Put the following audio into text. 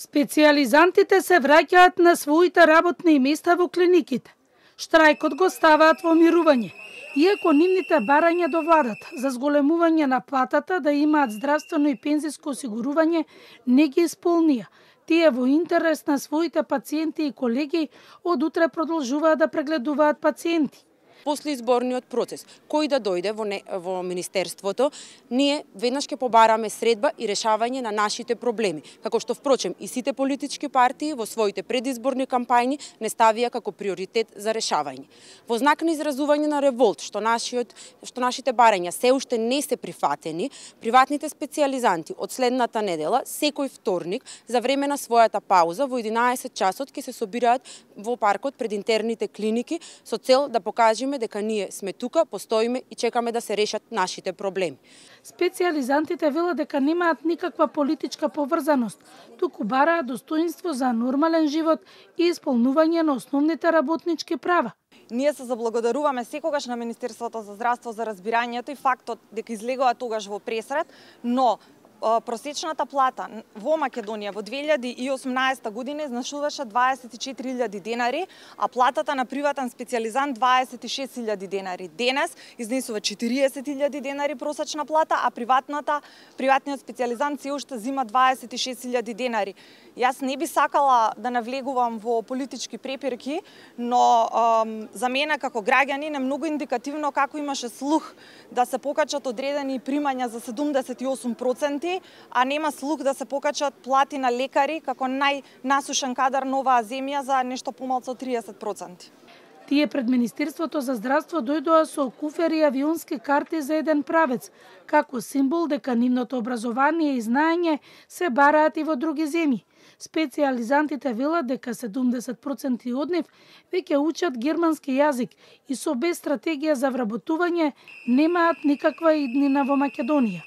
Специјализантите се враќаат на своите работни места во клиниките. Штрајкот го ставаат во мирување, иако нивните барања до владата за зголемување на платата да имаат здравствено и пензиско осигурување не ги исполнија. Тие во интерес на своите пациенти и колеги од утре продолжуваат да прегледуваат пациенти. После изборниот процес, кој да дојде во Министерството, ние веднаш ќе побараме средба и решавање на нашите проблеми, како што впрочем и сите политички партии во своите предизборни кампањи не ставија како приоритет за решавање. Во знак на изразување на револт што нашите барања се уште не се прифатени, приватните специјализанти од следната недела, секој вторник, за време на својата пауза во 11 часот ќе се собираат во паркот пред интерните клиники со цел да покажеме дека ние сме тука, постоиме и чекаме да се решат нашите проблеми. Специјализантите велат дека немаат никаква политичка поврзаност, туку бараат достоинство за нормален живот и исполнување на основните работнички права. Ние се заблагодаруваме секогаш на Министерството за здравство за разбирањето и фактот дека излегува тогаш во пресред, но просечната плата во Македонија во 2018 година изнашуваше 24.000 денари, а платата на приватен специјализант 26.000 денари. Денес изнесува 40.000 денари просечна плата, а приватниот специјализант се уште зима 26.000 денари. Јас не би сакала да навлегувам во политички препирки, но за мене како граѓанин е многу индикативно како имаше слух да се покачат одредени примања за 78%, а нема слух да се покачат плати на лекари како најнасушен кадар на оваа земја за нешто помалку од 30%. Тие пред Министерството за здравство дојдоа со куфери и авионски карти за еден правец, како символ дека нивното образование и знаење се бараат и во други земји. Специјализантите велат дека 70% од нив веќе учат германски јазик и со без стратегија за вработување немаат никаква иднина во Македонија.